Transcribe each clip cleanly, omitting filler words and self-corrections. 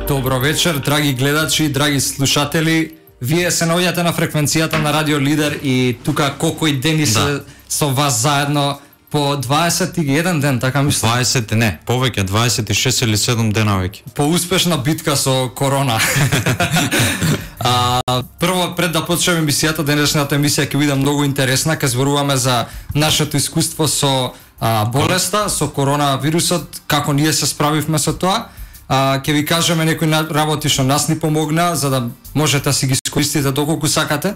Добро вечер, драги гледачи, драги слушатели. Вие се наоѓате на фреквенцијата на Радио Лидер и тука колку и дени се со вас заедно по 21 ден, така мислам. 20, не, повеќе, 26 или 7 дена веќе. По успешна битка со корона. Прво, пред да почнеме емисијата, денешната емисија ќе биде многу интересна, ќе зборуваме за нашето искуство со болеста, со коронавирусот, како ние се справивме со тоа. Ќе ви кажеме некои работи што нас ни помогна, за да можете да си ги искористите доколку сакате.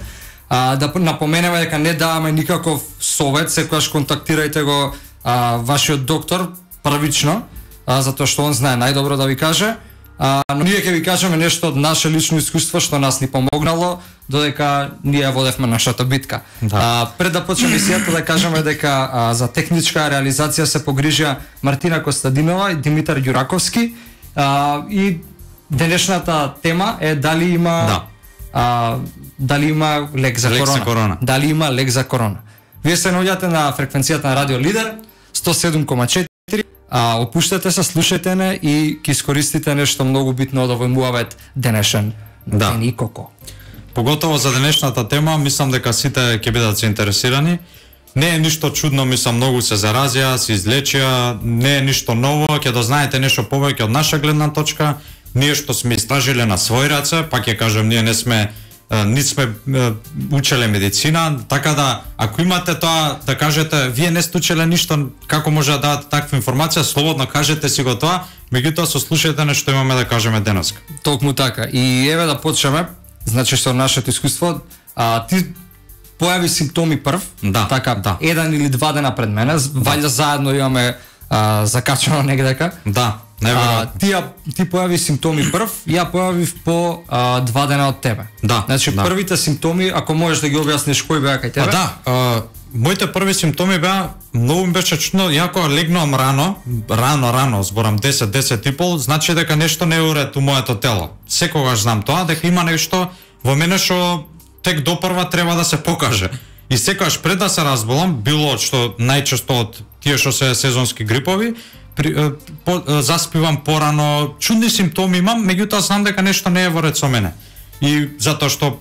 Да напоменеме дека не даваме никаков совет, секогаш контактирајте го вашиот доктор првично, затоа што он знае најдобро да ви каже. Но ние ќе ви кажеме нешто од наше лично искуство што нас ни помогнало, додека ние водевме нашата битка. Пред да почнеме емисијата да кажеме дека за техничка реализација се погрижија Мартина Костадинова и Димитар Ѓураковски. И денешната тема е дали има дали има лек за корона. Дали има лек за корона. Вие се наоѓате на фреквенцијата на Радио Лидер 107,4. Опуштете се, слушајте не и ќе искористите нешто многу битно од овој муавет денешен ден и коко. Поготово за денешната тема, мислам дека сите ќе бидат заинтересирани. Не е ништо чудно, мислам, многу се заразија, се излечија, не е ништо ново, ќе дознаете нешто повеќе од наша гледна точка. Ние што сме истражиле на свој раце, пак ќе кажем, ние не сме учеле медицина, така да ако имате тоа да кажете, вие не сте учеле ништо, како може да дадете таква информација, слободно кажете си го тоа, меѓутоа сослушајте нешто имаме да кажеме денеска. Токму така. И еве да почнеме, значи со нашето искуство, ти појави симптоми прв, така, еден или два дена пред мене, ваljda заедно имаме закачано негдека. Ти појави симптоми прв, ја појавив по 2 дена од тебе. Значи првите симптоми, ако можеш да ги објасниш кои беа кај тебе? Моите први симптоми беа, многу ми беше чудно, ја кога легнувам рано, зборам 10:30, значи дека нешто не е уред у моето тело. Секогаш знам тоа, дека има нешто во мене што тек допрва треба да се покаже. И секогаш пред да се разболам, било што најчесто од тие што се сезонски грипови, заспивам порано, чудни симптоми имам, меѓутоа знам дека нешто не е во ред со мене. И затоа што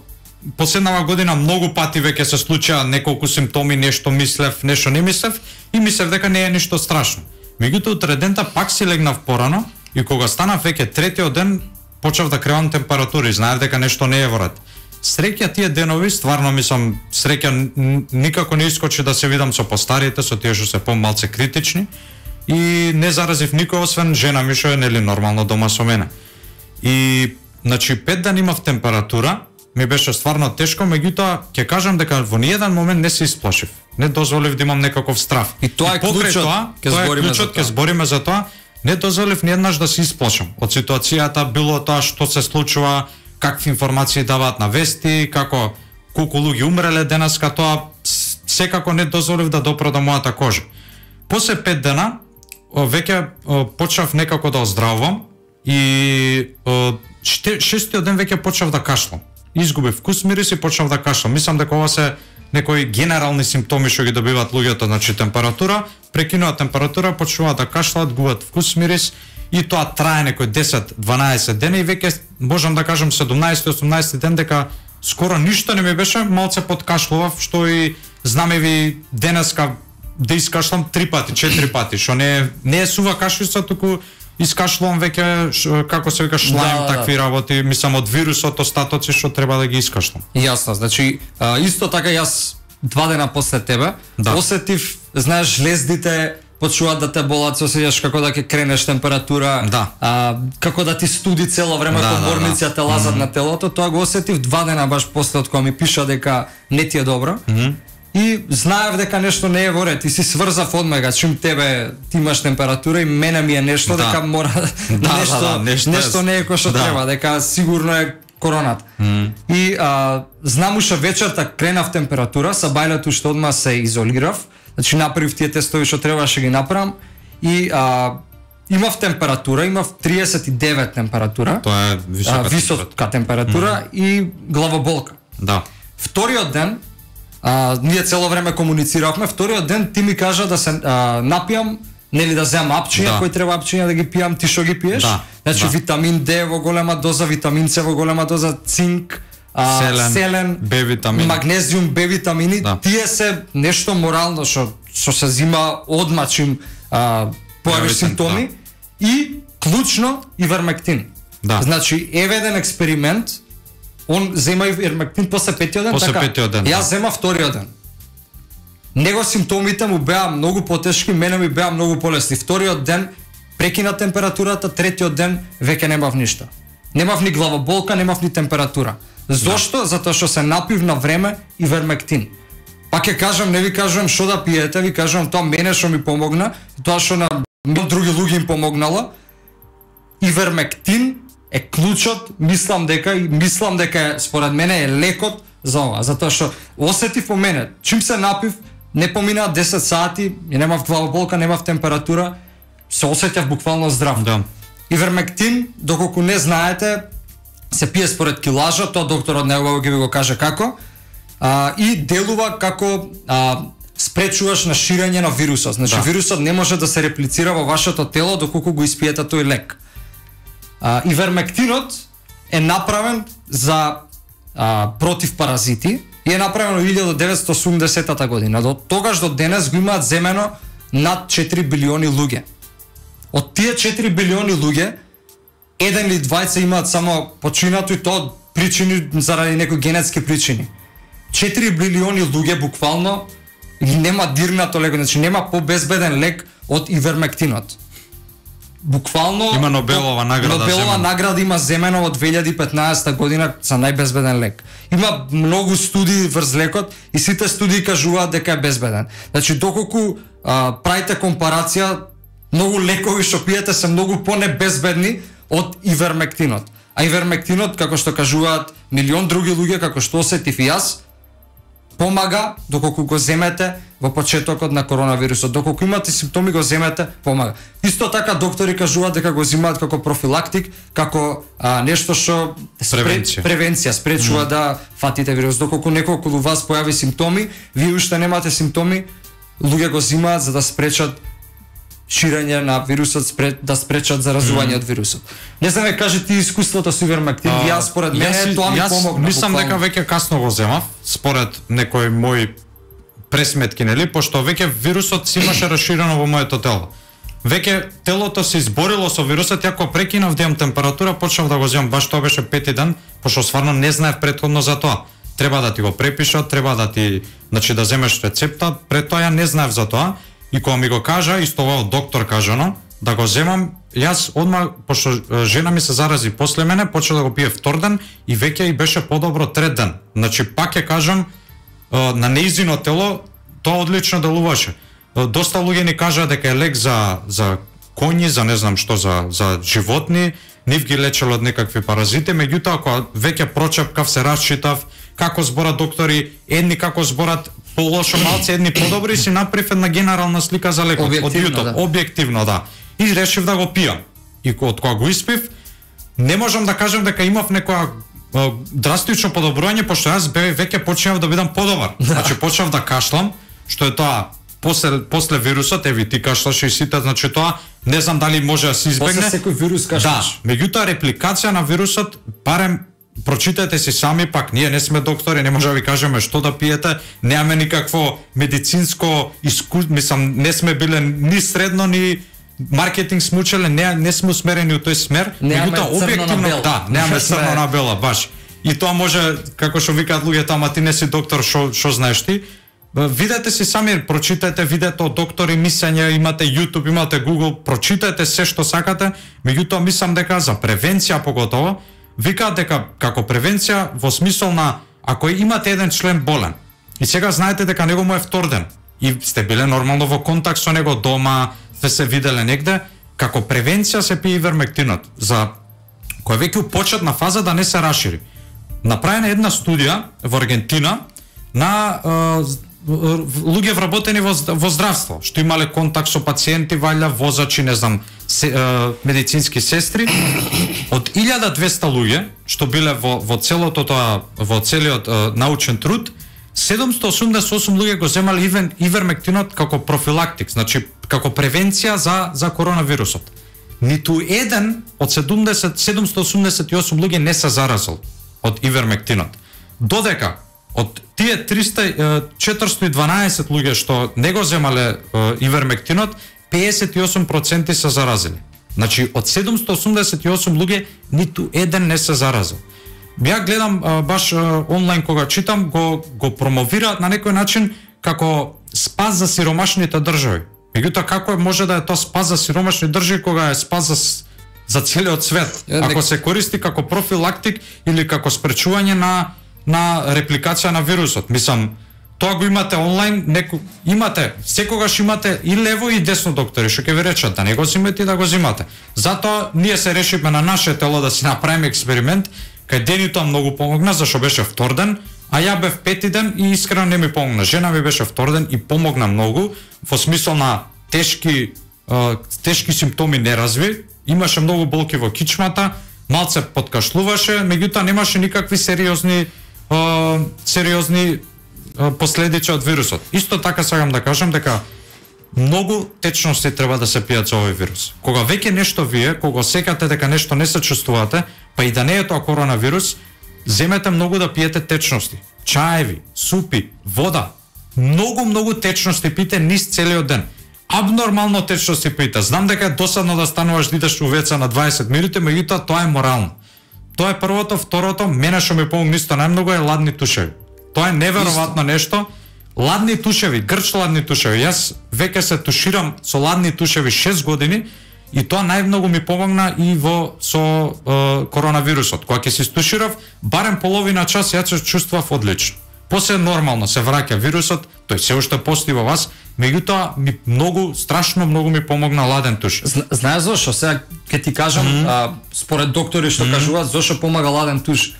последнава година многу пати веќе се случија неколку симптоми, нешто мислев, нешто не мислев и мислев дека не е ништо страшно. Меѓутоа утре дента пак си легнав порано и кога станав веќе третиот ден почнав да кревам температури, знаев дека нешто не е во ред. Среќа тие денови, стварно мислам, среќа никако не искочи да се видам со постарите, со тие што се помалце критични и не заразив никој освен жена ми што е нели нормално дома со мене. И значи 5 дена имав температура, ми беше стварно тешко, меѓутоа ќе кажам дека во ниеден момент не се исплашив. Не дозволив да имам некаков страв. И тоа е клучот, ќе збориме за тоа. Не дозволив ниеднаш да се исплашам од ситуацијата, било тоа што се случува, какви информации даваат на вести, како колку луѓе умреле денеска, тоа секако не дозволив да допра до мојата кожа. После 5 дена веќе почнав некако да оздравувам и шестиот ден веќе почнав да кашлам. Изгубив вкус, мирис и почнав да кашлам. Мислам дека ова се некои генерални симптоми што ги добиваат луѓето, значи температура, прекинува температура, почнуваат да кашлаат, губат вкус, мирис и тоа трае некои 10-12 дена и веќе можам да кажам 17-18 ден дека скоро ништо не ми беше, малце подкашлував, што и знаме ви денеска да искашлам 3 пати, 4 пати, што не е сува кашлица, туку искашлувам веќе, како се вика, шлајм, такви работи, мислам од вирусот, остатоци што треба да ги искашлам. Јасно, значи, исто така јас 2 дена после тебе, осетив, знаеш, жлездите почнуваат да те болат, се осеќаш како да ќе кренеш температура, како да ти студи цело време, поборници те лазат на телото, тоа го осетив 2 дена баш после од кога ми пиша дека не ти е добро. И знаев дека нешто не е во ред и си сврзав одмега, чим тебе ти имаш температура и мене ми е нешто дека мора нешто не е кој што треба, дека сигурно е коронат. И знам уште вечерта кренав температура, са бајлето уште одма се изолирав, значи направив тие тестови што требаше ги направам и имав температура, имав 39 температура. Тоа е висока температура и главоболка. Вториот ден ние цело време комунициравме, вториот ден ти ми кажа да се напијам нели да земам апчиња, кој треба апчиња да ги пијам, ти што ги пиеш? Значи витамин Д во голема доза, витамин С во голема доза, цинк, селен, Б витамини, магнезиум, Б витамини, тие се нешто морално што се зима одма чим појавиш симптоми и клучно ивермектин. Значи еве еден експеримент, он зема ивермектин после 5-тиот ден, така. Јас зема вториот ден. Него симптомите му беа многу потешки, мене ми беа многу полесни. Вториот ден прекина температурата, третиот ден веќе немав ништо. Немав ни главоболка, немав ни температура. Зошто? Затоа што се напив на време ивермектин. Пак ќе кажам, не ви кажувам што да пиете, ви кажувам тоа мене што ми помогна, тоа што на други луѓе им помогнало. Ивермектин е клучот, мислам дека според мене е лекот за ова, затоа што осетив по мене, чим се напив, не поминаа 10 сати, немав главоболка, немав температура, се осеќав буквално здрав. Ивермектин, доколку не знаете, се пие според килажа, тоа докторот неубаво ќе ви го каже како, и делува како спречуваш на ширење на вирусот. Значи вирусот не може да се реплицира во вашето тело доколку го испиете тој лек. Ивермектинот е направен за против паразити и е направен во 1980 година. До тогаш до денес го имаат земено над 4 билиони луѓе. Од тие 4 билиони луѓе, еден или двајца имаат само починато и тоа причини заради некои генетски причини. 4 билиони луѓе буквално нема дирнато лек, значи нема побезбеден лек од ивермектинот. Буквално има Нобелова награда. Нобелова награда има земено од 2015 година за најбезбеден лек. Има многу студии врз лекот и сите студии кажуваат дека е безбеден. Значи доколку правите компарација, многу лекови што пиете се многу понебезбедни од ивермектинот. А ивермектинот, како што кажуваат милион други луѓе, како што осетив и јас, помага доколку го земете во почетокот на коронавирусот. Доколку имате симптоми, го земете, помага. Исто така доктори кажуваат дека го земаат како профилактик, како нешто што превенција спречува да фатите вирус. Доколку некој околу вас појави симптоми, вие уште немате симптоми, луѓе го земаат за да спречат ширење на вирусот, да спречат заразување од вирусот. Не знам, кажи ти искуството со ивермектин, јас според мене тоа ми помогна. Мислам дека веќе касно го земав, според некои мои пресметки, нели, пошто веќе вирусот си имаше расширено во моето тело. Веќе телото се изборило со вирусот, јако прекинав да имам температура, почнав да го земам, баш тоа беше 5-ти ден, пошто стварно не знаев претходно за тоа. Треба да ти го препишат, треба да ти, значи да земеш рецепта, пред тоа ја не знаев за тоа. И кога ми го кажа, исто ова од доктор кажано, да го земам, јас одма, пошто жена ми се зарази после мене, почна да го пие втор ден и веќе и беше подобро трет ден. Значи, пак ќе кажам, на нејзино тело, тоа одлично делуваше. Доста луѓе ни кажаа дека е лек за коњи, за не знам што, за животни, нив ги лечело од некакви паразити, меѓутоа, кога веќе прочепкав, се расчитав, како зборат доктори, едни како зборат полошо малце, едни подобри, си направив една генерална слика за лекот од YouTube, објективно, да. И решив да го пијам. И од кога го испив, не можам да кажам дека имав некоја драстично подобрување, пошто јас веќе почнав да бидам подобар. Значи почнав да кашлам, што е тоа после вирусот, еви ти кашлаш и сите, значи тоа не знам дали може да се избегне. После секој вирус кашлаш. Да, меѓутоа репликација на вирусот, барем прочитате си сами, пак ние не сме доктори, не може да ви кажеме што да пиете, немаме никакво медицинско искуство, мислам, не сме биле ни средно, ни маркетинг сме учеле, не сме усмерени у тој смер, меѓутоа објективно, да, немаме црно на бела, баш. И тоа може, како што викаат луѓето, ама ти не си доктор, што знаеш ти? Видете си сами, прочитате видеото од доктори, мислење, имате YouTube, имате Google, прочитате се што сакате, меѓутоа мислам дека за превенција поготово, викаат дека како превенција во смисол на ако имате еден член болен и сега знаете дека него му е втор ден и сте биле нормално во контакт со него дома, сте се виделе негде, како превенција се пие ивермектинот за кој веќе почетна фаза да не се расшири. Направена една студија во Аргентина на луѓе вработени во здравство, што имале контакт со пациенти, валја возачи, не знам, медицински сестри. Од 1200 луѓе што биле во целиот научен труд, 788 луѓе го земале ивермектинот како профилактик, значи како превенција за коронавирусот. Ниту еден од 788 луѓе не се заразил од ивермектинот. Додека од тие 412 луѓе што не го земале ивермектинот, 58% се заразили. Значи од 788 луѓе ниту еден не се заразил. Ја гледам баш онлайн кога читам, го промовираат на некој начин како спас за сиромашните држави. Меѓутоа како може да е тоа спас за сиромашни држави кога е спас за целиот свет? Ако се користи како профилактик или како спречување на репликација на вирусот. Мислам, тоа го имате онлайн, секогаш имате и лево и десно доктори што ќе ви речат да не го зимете и да го зимате. Затоа ние се решивме на наше тело да си направиме експеримент, кај Денито многу помогна зашто беше втор ден, а ја бев пети ден и искрено не ми помогна. Жена ми беше втор ден и помогна многу во смисол на тешки симптоми не разви, имаше многу болки во кичмата, малце подкашлуваше, меѓутоа немаше никакви сериозни последици од вирусот. Исто така сакам да кажам дека многу течности треба да се пијат за овој вирус. Кога веќе нешто вие, кога секате дека нешто не се чувствувате, па и да не е тоа коронавирус, земете многу да пиете течности. Чаеви, супи, вода. Многу течности пите низ целиот ден. Абнормално течности пите. Знам дека е досадно да стануваш да идеш у веца на 20 минути, меѓутоа тоа е морално. Тоа е првото, второто, мене што ми помогна исто најмногу е ладни тушеви. Тоа е неверојатно нешто. Ладни тушеви, грч ладни тушеви. Јас веќе се туширам со ладни тушеви 6 години и тоа најмногу ми помогна и со коронавирусот. Кога ќе се стуширав, барем половина час јас се чувствував одлично. После нормално се враќа вирусот, тој се уште постои во вас, меѓутоа страшно многу ми помогна ладен туш. Знаеш зошто? Сега ќе ти кажам, според доктори што кажуваат зошто помага ладен туш.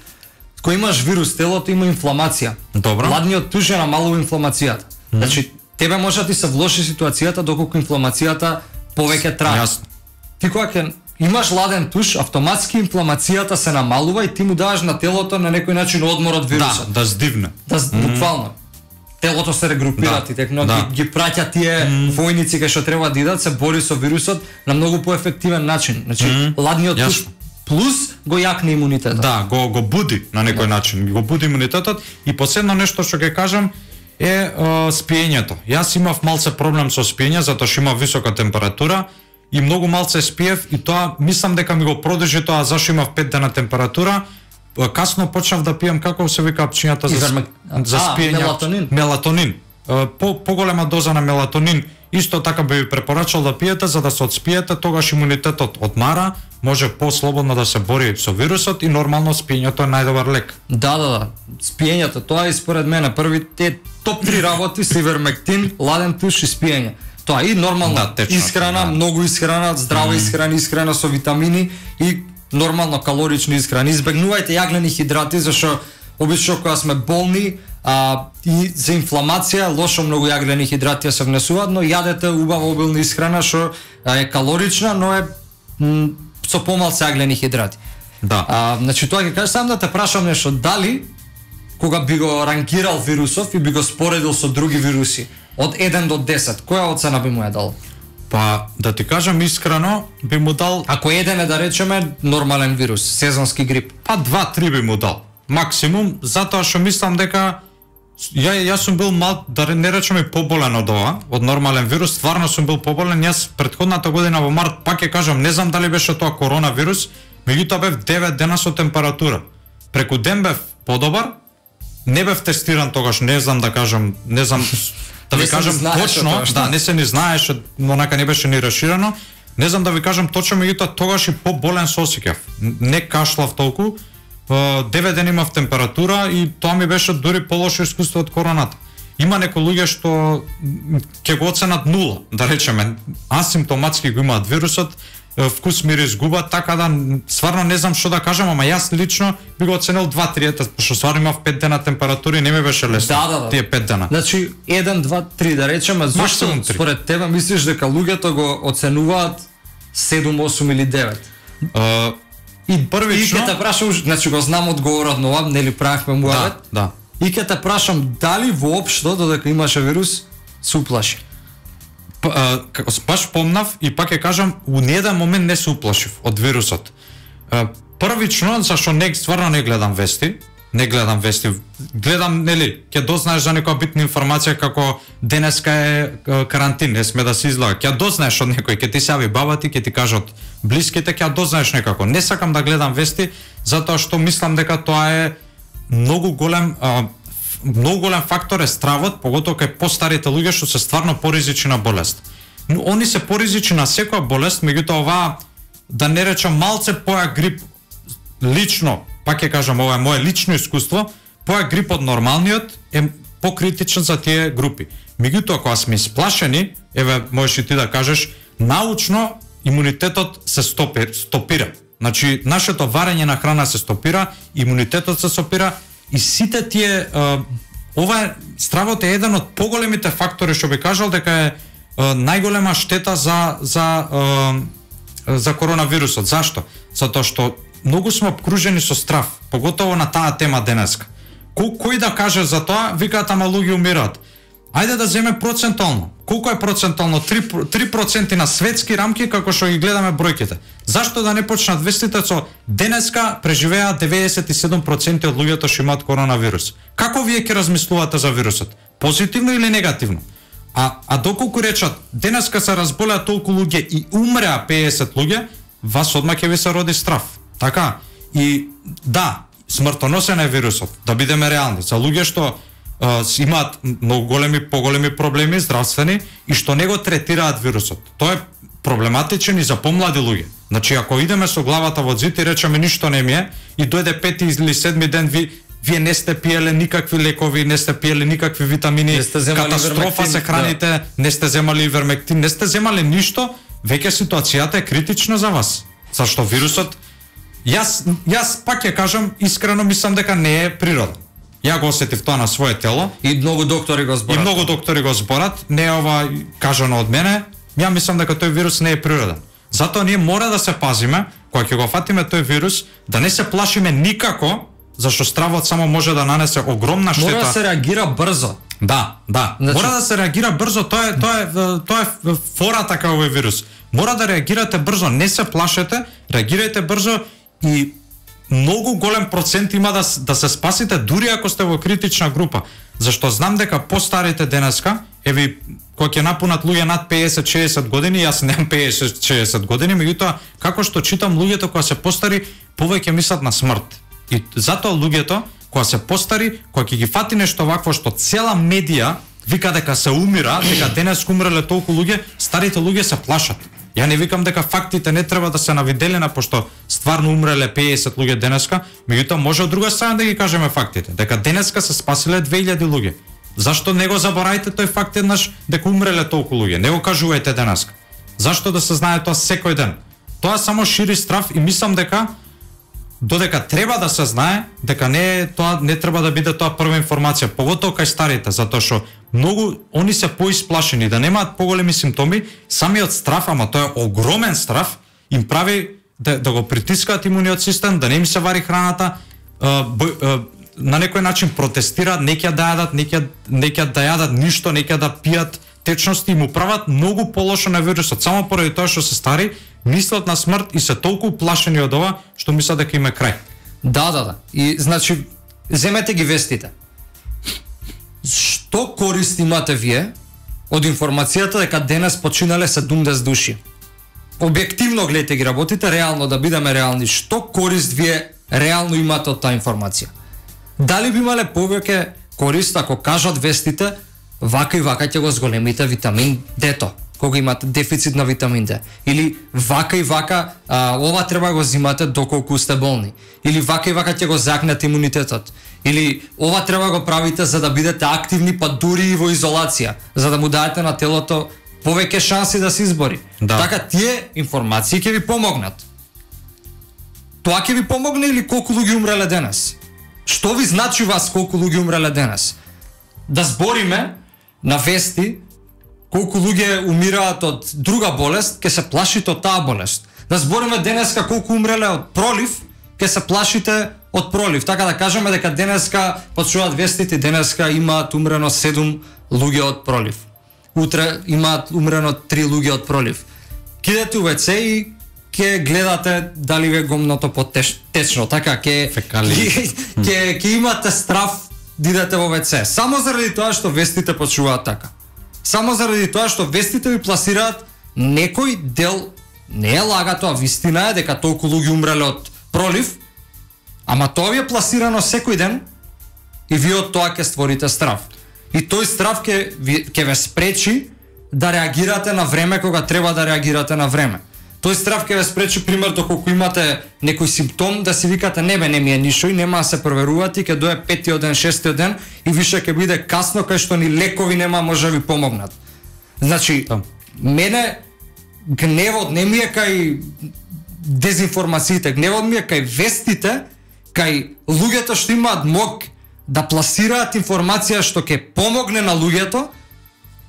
Кога имаш вирус, телото има инфламација. Добро. Ладниот туш ја намалува инфламацијата. Значи, тебе може да ти се влоши ситуацијата доколку инфламацијата повеќе трае. Јасно. Ти кога ќе имаш ладен туш, автоматски инфламацијата се намалува и ти му даваш на телото на некој начин одмор од вирусот. Да здивне. Буквално. Телото се регрупира, ти текно ги праќа тие војници кај што треба да идат, се бори со вирусот на многу поефективен начин. Значи, ладниот туш плюс го јакне имунитетот. Да, го буди на некој начин, го буди имунитетот и последно нешто што ќе кажам е спиењето. Јас имав малце проблем со спиење затоа што имав висока температура и многу малце спиев и тоа мислам дека ми го продолжи тоа зашто имав 5 дена температура. Касно почнав да пијам како се вика апчињата за спиење. Мелатонин. Поголема доза на мелатонин исто така би ви препорачал да пиете за да се одспиете, тогаш имунитетот одмара, може послободно да се бори со вирусот и нормално спиењето е најдобар лек. Да. Спиењето, тоа е според мене првите топ 3 работи се ивермектин, ладен туш и спиење. Тоа и нормална исхрана, многу исхрана, здрава исхрана со витамини и нормално калорични исхрани. Избегнувајте јаглени хидрати зашто обично кога сме болни и за инфламација лошо многу јаглени хидрати се внесуваат, но јадете убава обилна исхрана што е калорична, но е со помалку јаглени хидрати. Да. Значи тоа ќе кажам сам да те прашам нешто, дали кога би го ранкирал вирусов и би го споредил со други вируси од 1 до 10, која оцена би му ја дал? Па, да ти кажам искрено, би му дал... Ако еден е, да речеме, нормален вирус, сезонски грип. Па 2-3 би му дал. Максимум, затоа што мислам дека јас сум бил да не речеме поболен од ова, од нормален вирус, стварно сум бил поболен. Јас претходната година во март, пак ќе кажам, не знам дали беше тоа коронавирус, меѓутоа бев 9 дена со температура. Преку ден бев подобар, не бев тестиран тогаш, не знам да кажам, да ви кажам точно, не се ни знаеше, онака не беше ни расширено. Не знам да ви кажам точно, меѓутоа тогаш и поболен се осеќав. Не кашлав толку. 9 дена имав температура и тоа ми беше дури полошо искуство од короната. Има некои луѓе што ќе го оценат 0, да речеме, асимптоматски го имаат вирусот, вкус мирис губат, така да стварно не знам што да кажам, ама јас лично би го оценил 2-3, пошто стварно имав 5 дена температура и не ми беше лесно. Тие 5 дена. Значи 1, 2, 3 да речеме, зошто според тебе мислиш дека луѓето го оценуваат 7, 8 или 9? И првично... И ќе те прашам, значи го знам одговорот на ова, нели правевме муавет? Да. и ќе те прашам дали воопшто додека имаше вирус се уплаши. Баш помнав и пак ќе кажам, у ниеден момент не се уплашив од вирусот. Првично, зашто стварно не гледам вести, гледам, нели, ќе дознаеш за некоја битна информација како денеска е карантин, не сме да се излага. Ќе дознаеш од некој, ќе ти се јави баба ти, ќе ти кажат блиските, ќе дознаеш некако. Не сакам да гледам вести, затоа што мислам дека тоа е многу голем фактор е стравот, поготоа кај постарите луѓе што се стварно поризични на болест. Но они се поризични на секоја болест, меѓутоа оваа, да не речам малце поја грип, лично, пак ќе кажам, ова е мое лично искуство, поја грип од нормалниот е покритичен за тие групи. Меѓутоа, кога сме исплашени, еве, можеш и ти да кажеш, научно имунитетот се стопира. Значи, нашето варење на храна се стопира, имунитетот се стопира и сите тие, ова стравот е еден од поголемите фактори што би кажал дека е најголема штета за коронавирусот. Зашто? Затоа што многу сме обкружени со страв, поготово на таа тема денеска. Кој да каже за тоа, викаат ама луѓе умираат. Ајде да земе процентално. Колку е процентално? 3% на светски рамки како што ги гледаме бројките. Зашто да не почнат вестите со денеска преживеа 97% од луѓето што имаат коронавирус. Како вие ќе размислувате за вирусот? Позитивно или негативно? А доколку речат денеска се разболеа толку луѓе и умреа 50 луѓе, вас одма ќе ви се роди страв. Така? И да, смртоносен е вирусот, да бидеме реални. За луѓе што имаат многу поголеми проблеми здравствени и што не го третираат вирусот. Тоа е проблематичен и за помлади луѓе. Значи, ако идеме со главата во зид и речеме ништо не ми е, и дојде 5 или 7 ден вие не сте пиеле никакви лекови, не сте пиеле никакви витамини, катастрофа се храните, да. Не сте земали ивермектин, не сте земали ништо, веќе ситуацијата е критична за вас. Зашто вирусот, јас пак ќе кажам, искрено мислам дека не е природен. Ја го осетив тоа на свое тело. И многу доктори го зборат. Не е ова кажано од мене. Ја мислам дека тој вирус не е природен. Затоа ние мора да се пазиме, кога ќе го фатиме тој вирус, да не се плашиме никако, зашто стравот само може да нанесе огромна штета. Мора да се реагира брзо. Да. Значи... Мора да се реагира брзо, тоа е фората кај овој вирус. Мора да реагирате брзо, не се плашете, реагирајте брзо и многу голем процент има да се спасите дури ако сте во критична група. Зашто знам дека постарите денеска, еве кога ќе напунат луѓе над 50-60 години, јас немам 50-60 години, меѓутоа како што читам луѓето кога се постари, повеќе мислат на смрт. И затоа луѓето кога се постари, кога ќе ги фати нешто вакво што цела медија вика дека се умира, дека денес умреле толку луѓе, старите луѓе се плашат. Ја не викам дека фактите не треба да се навиделена, пошто стварно умреле 50 луѓе денеска, меѓутоа може од друга страна да ги кажеме фактите, дека денеска се спасиле 2000 луѓе. Зашто не го заборајте тој факт еднаш дека умреле толку луѓе? Не го кажувајте денеска. Зашто да се знае тоа секој ден? Тоа само шири страв и мислам дека додека треба да се знае дека не треба да биде тоа прва информација, поготоа кај старите, затоа што многу они се поисплашени, да немаат поголеми симптоми, самиот страв, ама тоа е огромен страв, им прави да го притискаат имуниот систем, да не им се вари храната, на некој начин протестираат, неќе да јадат, неќе да јадат ништо, неќе да пијат течности, му прават многу полошо на вирусот, само поради тоа што се стари, мислат на смрт и се толку плашени од ова, што мислат дека им е крај. Да. И значи, земете ги вестите. Што корист имате вие од информацијата дека денес починале 70 души? Објективно гледате ги работите, реално да бидеме реални. Што корист вие реално имате од таа информација? Дали би имале повеќе корист ако кажат вестите вака и вака ќе го зголемите витамин D-то, кога имате дефицит на витамин D, или вака и вака ова треба го зимате доколку сте болни, или вака и вака ќе го загнете имунитетот, или ова треба го правите за да бидете активни па дури и во изолација, за да му дадете на телото повеќе шанси да се избори. Да. Така тие информации ќе ви помогнат. Тоа ќе ви помогне или колку луѓе умреле денес? Што ви значи вас колку луѓе умреле денес? Да збориме на вести колку луѓе умираат од друга болест, ќе се плашите од таа болест. Да збориме денеска колку умреле од пролив, ќе се плашите од пролив. Така да кажеме дека денеска почнуваат вестите, денеска имаат умрено 7 луѓе од пролив. Утре имаат умрено 3 луѓе од пролив. Кидете у WC и ќе гледате дали ве гомното потечно, така ќе имате страв да идете во WC. Само заради тоа што вестите почнуваат така. Само заради тоа што вестите ви пласираат некој дел, не е лага тоа, вистина е дека толку луѓе умреле од пролив, ама тоа ви е пласирано секој ден и вие од тоа ќе створите страв. И тој страв ќе ве спречи да реагирате на време кога треба да реагирате на време. Тој страв ќе ве спречи, пример, доколку имате некој симптом, да си викате не ми е ништо и нема да се проверувате, ќе дое 5-тиот ден, 6-тиот ден и више ќе биде касно, кај што ни лекови нема може да ви помогнат. Значи, мене гневот не ми е кај дезинформациите, гневот ми е кај вестите, кај луѓето што имаат мог да пласираат информација што ќе помогне на луѓето,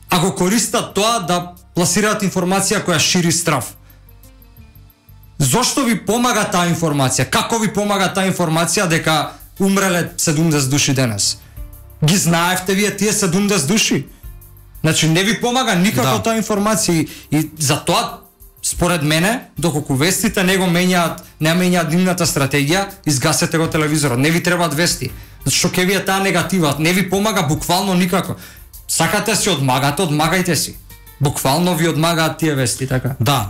а го користат тоа да пласираат информација која шири страв. Зошто ви помага таа информација? Како ви помага таа информација дека умреле 70 души денес? Ги знаевте вие тие 70 души? Значи не ви помага никако таа информација и за тоа според мене, доколку вестите не менјаат нивната стратегија, изгасете го телевизорот. Не ви требаат вести. Зашто ќе ви е таа негатива, не ви помага буквално никако. Сакате си одмагате, одмагајте си. Буквално ви одмагаат тие вести, така. Да,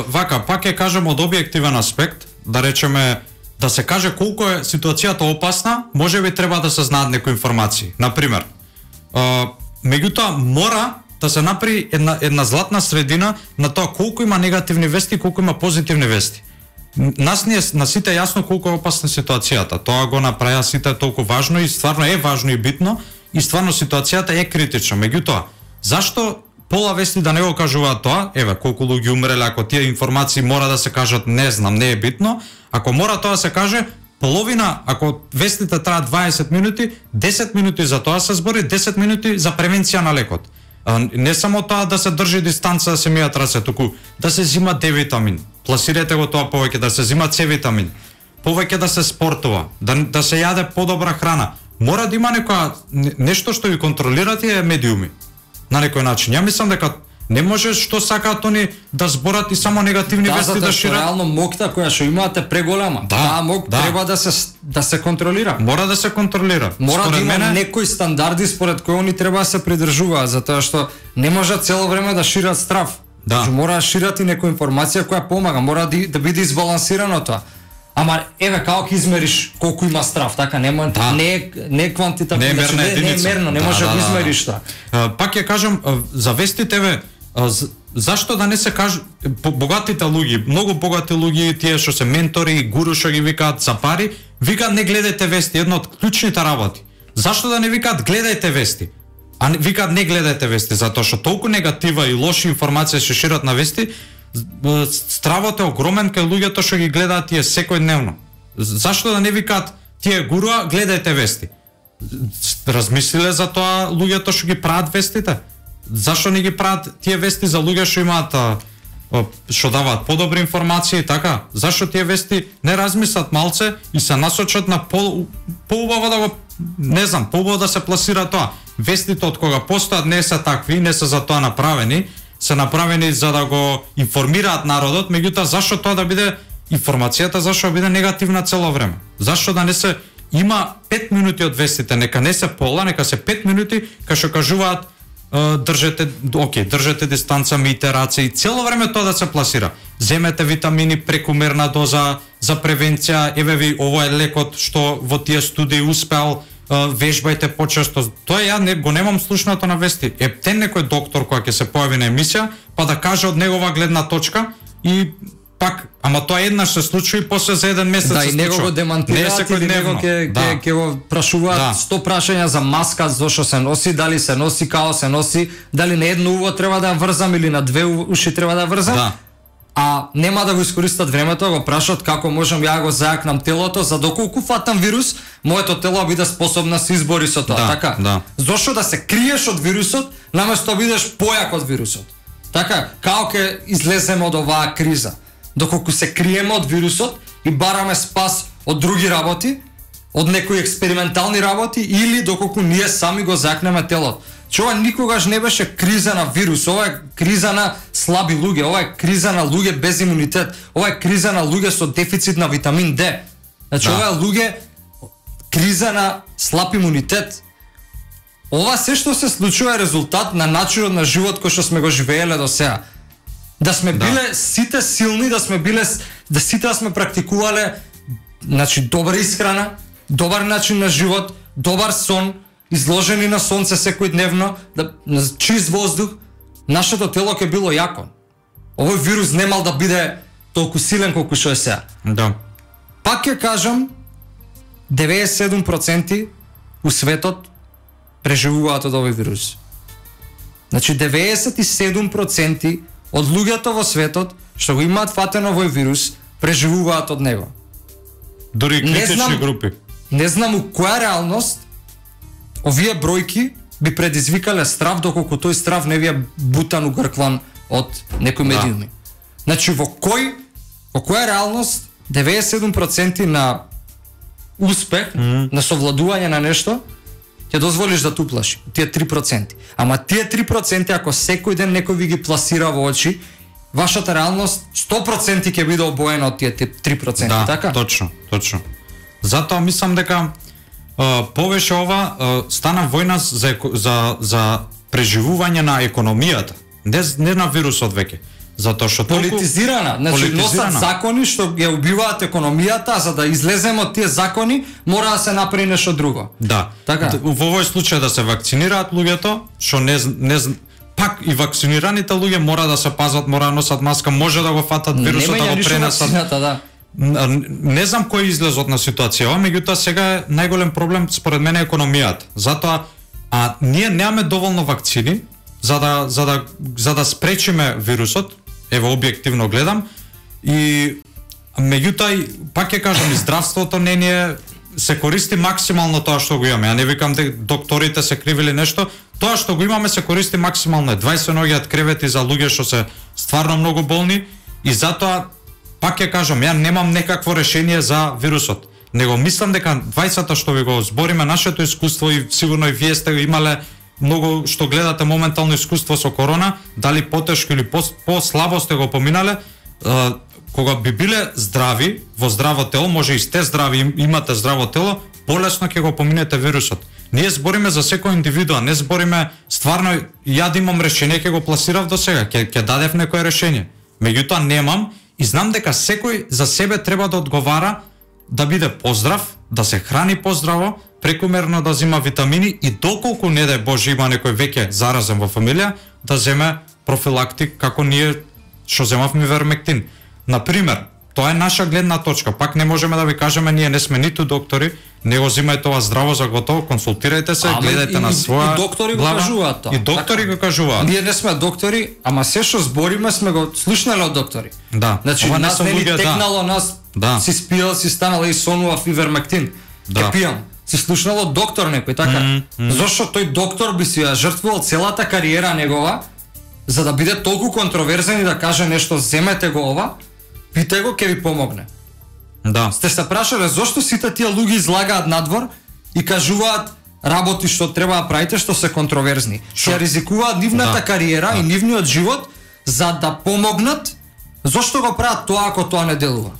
вака, пак ќе кажем од објективен аспект, да речеме, да се каже колку е ситуацијата опасна, може би треба да се знаат некои информации. Например, меѓутоа мора да се направи една златна средина на тоа колку има негативни вести и колку има позитивни вести. Нас ни е на сите јасно колку е опасна ситуацијата. Тоа го направија сите толку важно и стварно е важно и битно и стварно ситуацијата е критична. Меѓутоа, зашто пола вести да не го кажуваат тоа? Еве, колку луѓе умреле, ако тие информации мора да се кажат, не знам, не е битно. Ако мора тоа да се каже, половина, ако вестите траат 20 минути, 10 минути за тоа се збори, 10 минути за превенција на лекот. Не само тоа да се држи дистанца, да се мијат раце, туку да се зима Д витамин. Пласирате го тоа повеќе, да се зима С витамин. Повеќе да се спортува, да се јаде подобра храна. Мора да има нешто што ви контролира тие медиуми. На некој начин. Ја мислам дека не може што сакаат они да зборат и само негативни вести да шират. Реално мокта која што имате преголема. Таа мок треба да се контролира. Мора да се контролира. Мора да има некои стандарди според кои они треба да се придржуваат, затоа што не може цело време да шират страв. Значи мора да шират и некоја информација која помага, мора да биде избалансирано тоа. Ама еве како ќе измериш колку има страв, така не е квантитативно, не е мерно, не може да измериш тоа. Пак ќе кажам за вестите, зашто да не се каже богатите луѓе, многу богати луѓе, тие што се ментори, гуру што ги викаат за пари, викаат не гледајте вести, една од клучните работи. Зашто да не викаат гледајте вести? А викаат не гледајте вести, затоа што толку негатива и лоши информации се шират на вести, стравот е огромен кај луѓето што ги гледаат тие секојдневно. Зашто да не викаат тие гуруа гледајте вести? Размислиле за тоа луѓето што ги прават вестите? Зашто не ги прават тие вести за луѓе што имаат што даваат подобри информации, така? Зашто тие вести не размислат малце и се насочат на поубаво да го, не знам, поубаво да се пласира тоа. Вестите од кога постојат не се такви, не се за тоа направени, се направени за да го информираат народот, меѓутоа зашто тоа да биде информацијата, зашто да биде негативна цело време? Зашто да не се има 5 минути од вестите, нека не се пола, нека се 5 минути кај што кажуваат држете дистанца, мијте раце и цело време тоа да се пласира. Земете витамини, прекумерна доза за превенција, еве ви ово е лекот што во тие студии успеал, вежбајте почесто. Тоа ја го немам слушнато на вести. Ептен некој доктор која ќе се појави на емисија, па да каже од негова гледна точка и пак, ама тоа еднаш се случи и после за еден месец се случува. Да, и него го демантираат или него ќе го прашуваат 100 прашања за маска, зошто се носи, дали се носи, као се носи, дали на едно уво треба да ја врзам или на две уши треба да ја врзам. А нема да го искористат времето, го прашат како можам ја го зајакнам телото, за доколку фатам вирус, моето тело биде способно да се избори со тоа, така? Зошто да се криеш од вирусот, наместо да бидеш појак од вирусот? Така, како ќе излеземе од оваа криза? Доколку се криеме од вирусот и бараме спас од други работи, од некои експериментални работи или доколку ние сами го закнеме телото. Че ова никогаш не беше криза на вирус, ова е криза на слаби луѓе, ова е криза на луѓе без имунитет, ова е криза на луѓе со дефицит на витамин Д. Значи ова е луѓе криза на слаб имунитет. Ова се што се случува е резултат на начинот на живот кој што сме го живееле до сега. Да сме биле сите силни, да сите сме практикувале значи добра исхрана, добар начин на живот, добар сон, изложени на сонце секојдневно, на чист воздух, нашето тело ќе било јако. Овој вирус немал да биде толку силен колку што е сега. Да. Пак ќе кажам, 97% у светот преживуваат од овој вирус. Значи 97% од луѓето во светот што го имаат фатено овој вирус преживуваат од него. Дори критични групи. Не знам у која реалност овие бројки би предизвикале страв, доколку тој страв не ви е бутан, угркван од некои медиуми. Значи во која реалност 97% на успех, на совладување на нешто, ќе дозволиш да те уплаши, тие 3%. Ама тие 3% ако секој ден некој ви ги пласира во очи, вашата реалност 100% ќе биде обоена од тие 3%, да, така? Точно. Затоа мислам дека повеќе ова стана војна за преживување на економијата, не на вирусот веќе. Затоа што политизирана, значи носат закони што ја убиваат економијата, а за да излеземе од тие закони мора да се направи нешто друго. Да. Така. Во овој случај да се вакцинираат луѓето, што пак и вакцинираните луѓе мора да се пазат, мора да носат маска, може да го фатат вирусот, да го пренесат. Да. Не знам кој излезот на ситуација, меѓутоа сега е најголем проблем според мене економијата. Затоа ние немаме доволно вакцини за да спречиме вирусот. Ево објективно гледам, и меѓутоа пак ќе кажам, и здравството не се користи максимално тоа што го имаме. Ја не викам дека докторите се кривили нешто, тоа што го имаме се користи максимално. 20 ноѓаат кревети за луѓе што се стварно многу болни, и затоа пак ќе кажам, ја немам некакво решение за вирусот. Него мислам дека 20-та што ви го збориме нашето искуство, и сигурно и вие сте имале многу што гледате моментално искуство со корона, дали потешко или по-слабо сте го поминале, кога би биле здрави, во здраво тело, може и сте здрави, имате здраво тело, полесно ќе го поминете вирусот. Ние збориме за секој индивидуа, не збориме стварно, ја да имам решение, ќе го пласирав до сега, ќе дадев некое решение. Меѓутоа немам и знам дека секој за себе треба да одговара, да биде поздрав, да се храни поздраво, прекумерно да зема витамини и доколку не дај Боже има некој веќе заразен во фамилија, да земе профилактик како ние што земавме вермектин. Например, тоа е наша гледна точка. Пак не можеме да ви кажеме, ние не сме ниту доктори, не го земајте ова здраво за готово, консултирајте се, гледајте на своја. И доктори го кажуваат тоа. И доктори го кажуваат. Ние не сме доктори, ама се што збориме сме го слушнале од доктори. Да. Значи нас не ни текнало, нас си спиел, си станала и сонува фивермектин. Ке пијам. Си слушнало доктор некој, така? Зошто тој доктор би си ја жртвувал целата кариера негова за да биде толку контроверзен и да каже нешто, земете го ова, питај го, ќе ви помогне. Да. Сте се прашале зошто сите тие луѓе излагаат надвор и кажуваат работи што треба да правите што се контроверзни. Ќе ризикуваат нивната кариера и нивниот живот за да помогнат. Зошто го прават тоа ако тоа не делува?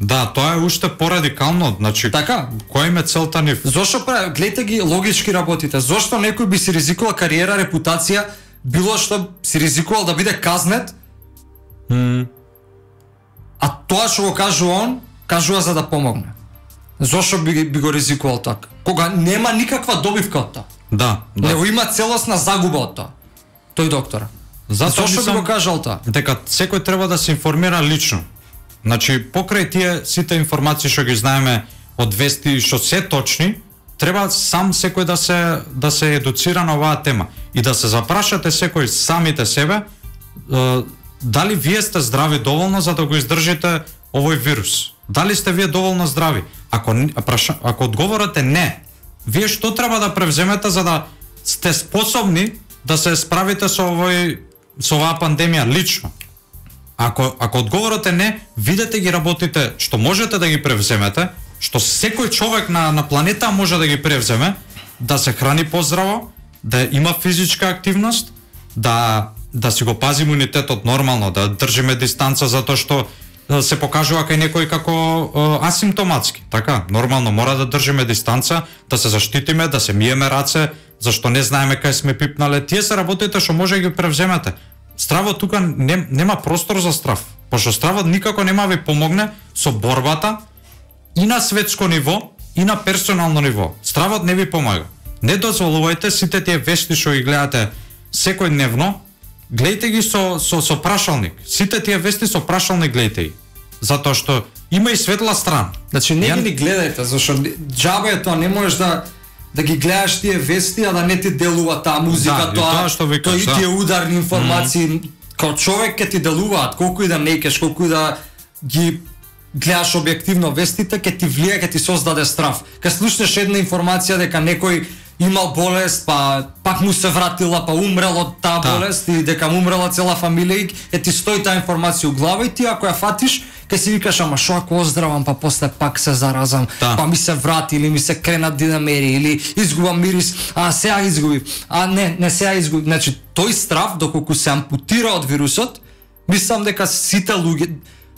Да, тоа е уште порадикално, значи така, која им е целта нив? Зошто прави, гледате ги логички работите. Зошто некој би си ризикувал кариера, репутација, било што си ризикувал да биде казнет? А тоа што го кажува он, кажува за да помогне. Зошто би го ризикувал така? Кога нема никаква добивка од тоа. Да. Него има целосна загуба од тоа. Тој доктор. Зошто би го кажал тоа? Дека секој треба да се информира лично. Значи, покрај тие сите информации што ги знаеме од вести што се точни, треба сам секој да се едуцира на оваа тема и да се запрашате секој самите себе дали вие сте здрави доволно за да го издржите овој вирус. Дали сте вие доволно здрави? Ако одговорот е не, вие што треба да превземете за да сте способни да се справите со оваа пандемија лично? Ако одговорот е не, видете ги работите што можете да ги превземете, што секој човек на планета може да ги превземе, да се храни поздраво, да има физичка активност, да си го пази имунитетот нормално, да држиме дистанца затоа што се покажува кај некој како асимптоматски. Така, нормално мора да држиме дистанца, да се заштитиме, да се миеме раце, зашто не знаеме кај сме пипнале. Тие се работите што може да ги превземете. Стравот тука нема простор за страв, пошто стравот никако нема ви помогне со борбата и на светско ниво и на персонално ниво. Стравот не ви помага. Не дозволувајте сите тие вести што ги гледате секојдневно, гледајте ги со прашалник. Сите тие вести со прашалник гледајте ги. Затоа што има и светла страна. Значи не ги гледајте, зашто џабе е тоа, не можеш да ги гледаш тие вести, а да не ти делува таа музика, тоа што викаш, и тие ударни информации, као човек ќе ти делуваат, колку и да не кеш, колку и да ги гледаш објективно вестите, ќе ти влие, ќе ти создаде страв. Кога слушнеш една информација дека некој имал болест, па пак му се вратила, па умрел од таа болест и дека му умрела цела фамилија, ти стои таа информација у глава и ти ако ја фатиш, ке си викаш, ама шо ако оздравам, па после пак се заразам, па ми се врати или ми се кренат динамери или изгубам мирис, а сега изгубив, а не сега изгубив. Значи тој страв доколку се ампутира од вирусот, мислам дека сите луѓе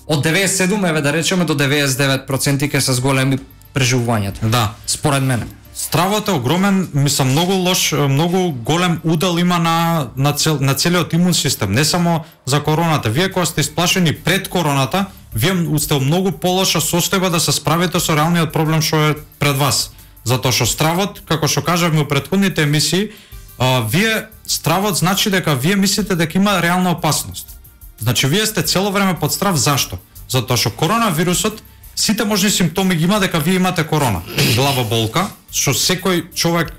од 97 еве да речеме до 99% ке се зголеми преживувањето. Да, според мене. Стравот е огромен, мислам многу лош, многу голем удел има на целиот имун систем, не само за короната. Вие кога сте исплашени пред короната, вие сте многу полоша состојба да се справите со реалниот проблем што е пред вас. Затоа што стравот, како што кажавме во претходните емисии, стравот значи дека вие мислите дека има реална опасност. Значи вие сте цело време под страв. Зашто? Затоа што коронавирусот сите можни симптоми ги има дека вие имате корона. Глава болка, што секој човек,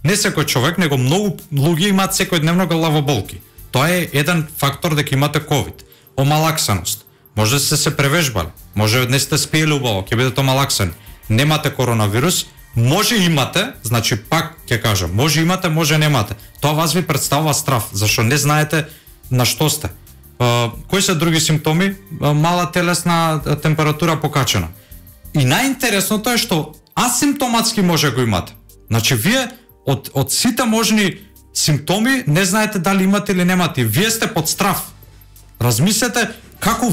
не секој човек, него многу луѓе имаат секојдневно глава болки. Тоа е еден фактор дека имате ковид. Омалаксаност. Може да се превежбали, може не сте спиели убаво, ќе бидете омалаксани. Немате коронавирус, може имате, значи пак ќе кажам, може имате, може немате. Тоа вас ви представува страв, зашто не знаете на што сте. Кои се други симптоми? Мала телесна температура покачена. И најинтересното е што асимптоматски може го имате. Значи вие од сите можни симптоми не знаете дали имате или немате. Вие сте под страв. Размислете како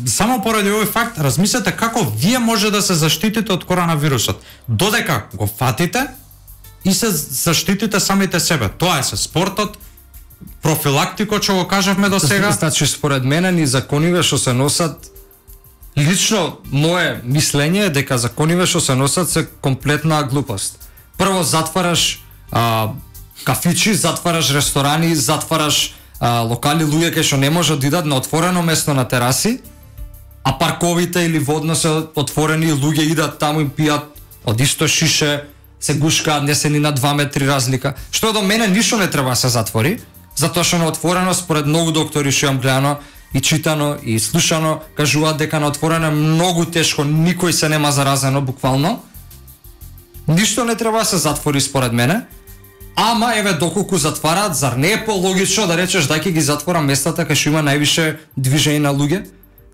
само поради овој факт, размислете како вие може да се заштитите од коронавирусот. Додека го фатите и се заштитите самите себе. Тоа е се спортот, профилактико што го кажавме до сега. Значи според мене ни закониве што се носат, лично мое мислење е дека закониве што се носат се комплетна глупост. Прво затвараш кафичи, затвараш ресторани, затвараш локали, луѓе кај што не можат да идат на отворено место на тераси, а парковите или водно се отворени, луѓе идат таму и пијат од исто шише, се гушкаат, не се ни на 2 метри разлика. Што до мене ништо не треба да се затвори, затоа што на отворено според многу доктори што имам гледано и читано и слушано, кажуваат дека на отворено е многу тешко, никој се нема заразено буквално. Ништо не треба да се затвори според мене. Ама еве доколку затвараат, зар не е пологично да речеш дај ќе ги затворам местата кај што има највише движење на луѓе?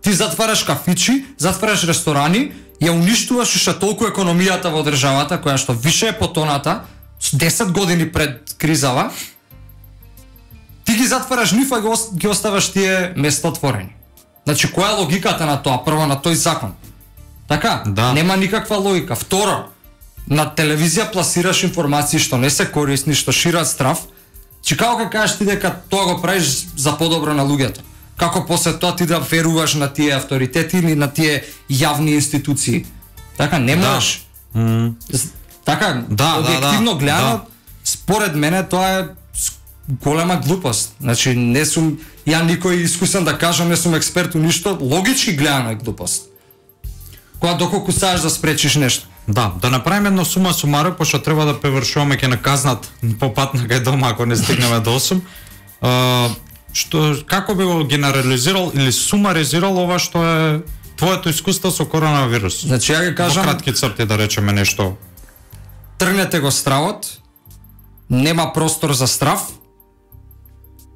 Ти затвараш кафичи, затвараш ресторани, ја уништуваш уште толку економијата во државата која што више е потоната 10 години пред кризава. Ти ги затвараш нив, а ги оставаш тие места отворени. Значи која е логиката на тоа? Прво на тој закон. Така? Да. Нема никаква логика. Второ, на телевизија пласираш информации што не се корисни, што шират страв. Чи како ќе кажеш ти дека тоа го правиш за подобро на луѓето? Како после тоа ти да веруваш на тие авторитети или на тие јавни институции? Така не можеш. Така, објективно гледано, според мене тоа е голема глупост. Значи не сум ја никој искусен да кажам, не сум експерт у ништо, логички гледано е глупост. Кога доколку сакаш да спречиш нешто. Да направиме едно сума сумаро, пошто треба да превршуваме ќе наказнат по пат на кај дома ако не стигнеме до 8. Како би го генерализирал или сумаризирал ова што е твоето искуство со коронавирус? Значи ја ги кажам, во кратки црти да речеме нешто. Тргнете го стравот, нема простор за страв.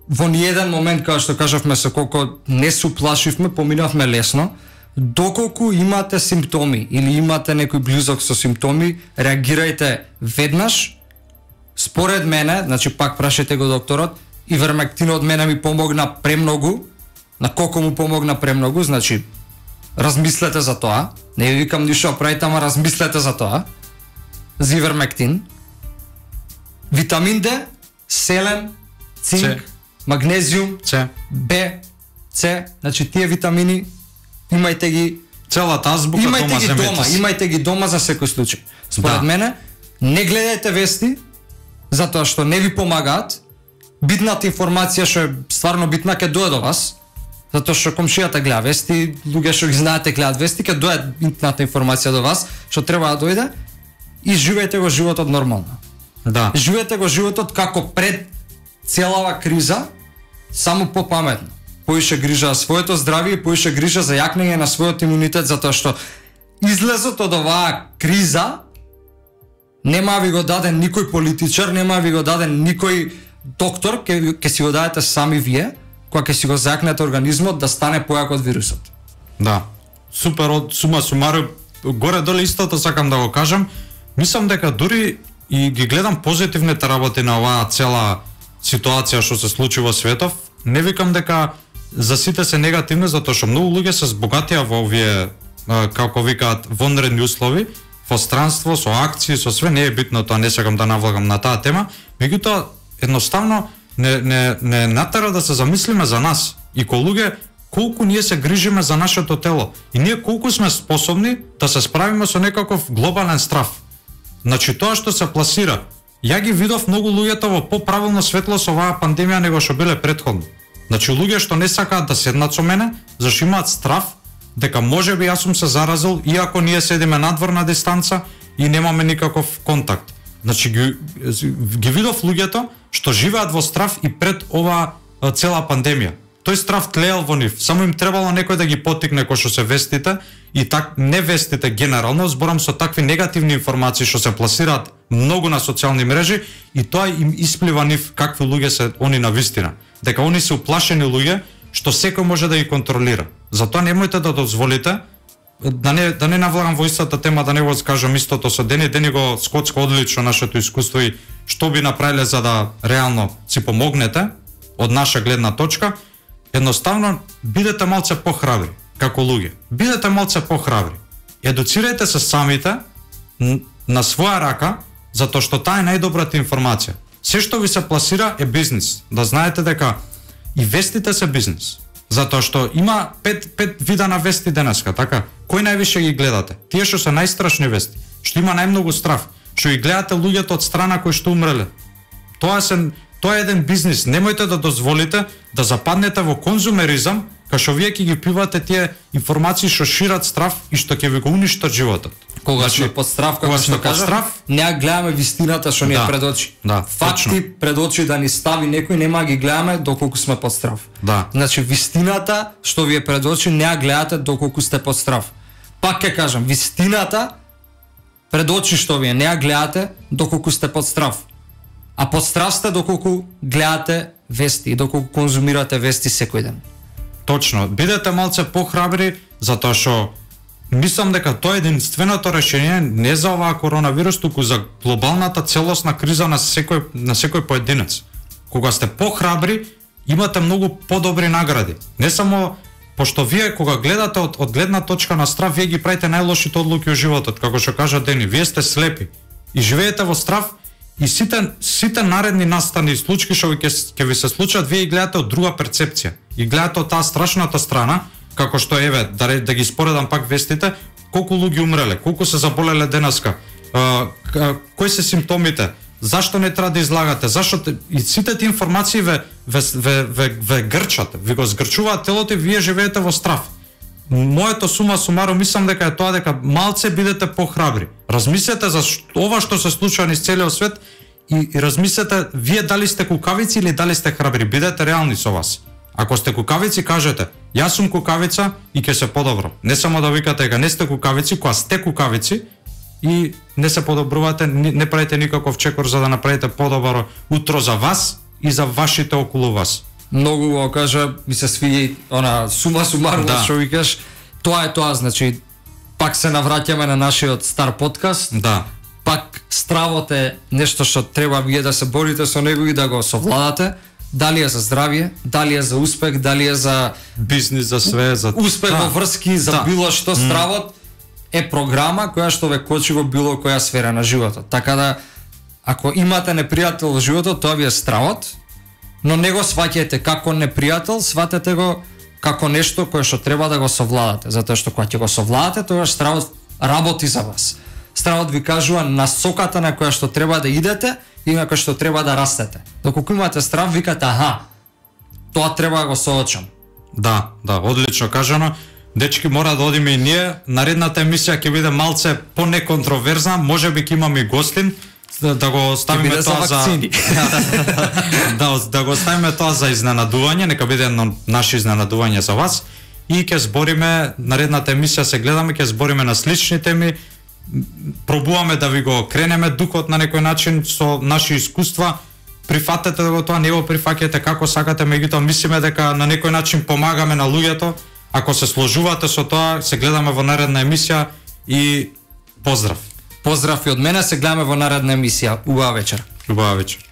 Во ниеден момент, кога што кажавме се колко не се уплашивме, поминавме лесно. Доколку имате симптоми или имате некој близок со симптоми, реагирајте веднаш. Според мене, значи пак прашајте го докторот, ивермектинот мене ми помогна премногу. На колку му помогна премногу, значи размислете за тоа. Не ви викам ништо правите, ама размислете за тоа. За ивермектин. Витамин Д, селен, цинк, магнезиум, Б, С, значи тие витамини имајте ги целата азбука дома, имајте ги дома за секој случај. Според мене, не гледајте вести затоа што не ви помагаат. Битната информација што е стварно битна ќе дојде до вас, затоа што комшијата гледа вести, луѓе што ги знаете гледаат вести, ќе дојде битната информација до вас, што треба да дојде, и живеете го животот нормално. Да. Живеете го животот како пред целава криза, само попаметно. Поише грижа за своето здравје и поише грижа за јакнење на својот имунитет, затоа што излезот од оваа криза нема ви го даден никој политичар, нема ви го даден никој доктор, ќе си го дадете сами вие, кога ќе си го зајакнете организмот да стане појак од вирусот. Да. Супер, од сума сумаро, горе доле истото сакам да го кажам. Мислам дека дури и ги гледам позитивните работи на оваа цела ситуација што се случи во светов. Не викам дека за сите се негативни, затоа што многу луѓе се збогатија во овие, како викаат, вонредни услови, во странство, со акции, со све, не е битно тоа, не сакам да навлагам на таа тема, меѓутоа едноставно не натера да се замислиме за нас и ко луѓе колку ние се грижиме за нашето тело и ние колку сме способни да се справиме со некаков глобален страв. Значи тоа што се пласира, ја ги видов многу луѓето во поправилно светло со оваа пандемија него што биле претходно. Значи луѓе што не сакаат да седнат со мене, зашто имаат страв дека можеби јас сум се заразил иако ние седиме надвор на дистанца и немаме никаков контакт. Значи ги видов луѓето што живеат во страв и пред оваа цела пандемија. Тој страв тлеел во нив, само им требало некој да ги потикне кој што се вестите и не вестите генерално, зборам со такви негативни информации што се пласираат многу на социјални мрежи и тоа им исплива нив какви луѓе се они на вистина. Дека они се уплашени луѓе што секој може да ги контролира. Затоа немојте да дозволите да не навлагам во истата тема, да не го скажам истото со Дени го скоцка одлично нашето искуство и што би направиле за да реално си помогнете од наша гледна точка. Едноставно бидете малце похрабри како луѓе. Бидете малце похрабри. Едуцирајте се самите на своја рака, затоа што таа е најдобрата информација. Се што ви се пласира е бизнис. Да знаете дека и вестите се бизнис. Затоа што има пет вида на вести денеска, така? Кој највише ги гледате? Тие што се најстрашни вести, што има најмногу страв, што ги гледате луѓето од страна кои што умреле. Тоа е еден бизнис. Немојте да дозволите да западнете во конзумеризам, кај што вие ќе ги пивате тие информации што шират страв и што ќе ви го уништат животот. Кога сме под страв, како што кажав, не гледаме вистината што ни е пред очи. Факти пред очи да ни стави некој, нема ги гледаме доколку сме под страв. Значи вистината што ви е пред очи не ја гледате доколку сте под страв. Пак ќе кажам, вистината пред очи што ви не ја гледате доколку сте под страв. А под страв сте доколку гледате вести и доколку конзумирате вести секој ден. Точно, бидете малце похрабри, затоа што мислам дека тоа е единственото решение не за оваа коронавирус, туку за глобалната целосна криза на секој поединец. Кога сте похрабри, имате многу подобри награди. Не само пошто вие кога гледате од гледна точка на страв, вие ги правите најлошите одлуки во животот, како што кажа Дени, вие сте слепи и живеете во страв. И сите наредни настани и случаи што ќе ви се случат, вие ги гледате од друга перцепција. И гледате од таа страшната страна, како што еве да ги споредам пак вестите, колку луѓе умреле, колку се заболеле денеска, кои се симптомите, зашто не треба да излагате, зашто и сите тие информации ве грчат, ви го згрчуваат телото и вие живеете во страв. Моето сума сумаро мислам дека е тоа дека малце бидете похрабри. Размислете за ова што се случува низ целиот свет и размислете вие дали сте кукавици или дали сте храбри. Бидете реални со вас. Ако сте кукавици, кажете јас сум кукавица и ќе се подобро. Не само да викате дека не сте кукавици, кога сте кукавици и не се подобрувате, не правите никаков чекор за да направите подобро утро за вас и за вашите околу вас. Многу го кажа, ми се свиѓа она сума сумарно што викаш, Тоа е тоа, значи пак се навраќаме на нашиот стар подкаст. Да. Пак стравот е нешто што треба вие да се борите со него и да го совладате. Дали е за здравје, дали е за успех, дали е за бизнис, за све, за успех во врски, за било што, стравот е програма која што ве кочи во било која сфера на животот. Така да, ако имате непријател во животот, тоа ви е стравот, но не го сваќајте како непријател, сватете го како нешто кое што треба да го совладате, затоа што кога ќе го совладате, тогаш стравот работи за вас. Стравот ви кажува насоката на која што треба да идете и на која што треба да растете. Доколку имате страв, викате, аха, тоа треба да го соочам. Да, одлично кажано. Дечки, мора да одиме и ние. Наредната емисија ќе биде малце понеконтроверзна, можеби ќе имаме и гостин, да го оставиме тоа за да го оставиме тоа за изненадување, нека биде едно наше изненадување за вас и ќе збориме наредната емисија, се гледаме, ќе збориме на слични теми, пробуваме да ви го кренеме духот на некој начин со наши искуства. Прифатете го тоа, не го прифаќате како сакате, меѓутоа мислиме дека на некој начин помагаме на луѓето. Ако се сложувате со тоа, се гледаме во наредна емисија и поздрав. Поздрав и од мене, се гледаме во наредна емисија. Убава вечер. Убава вечер.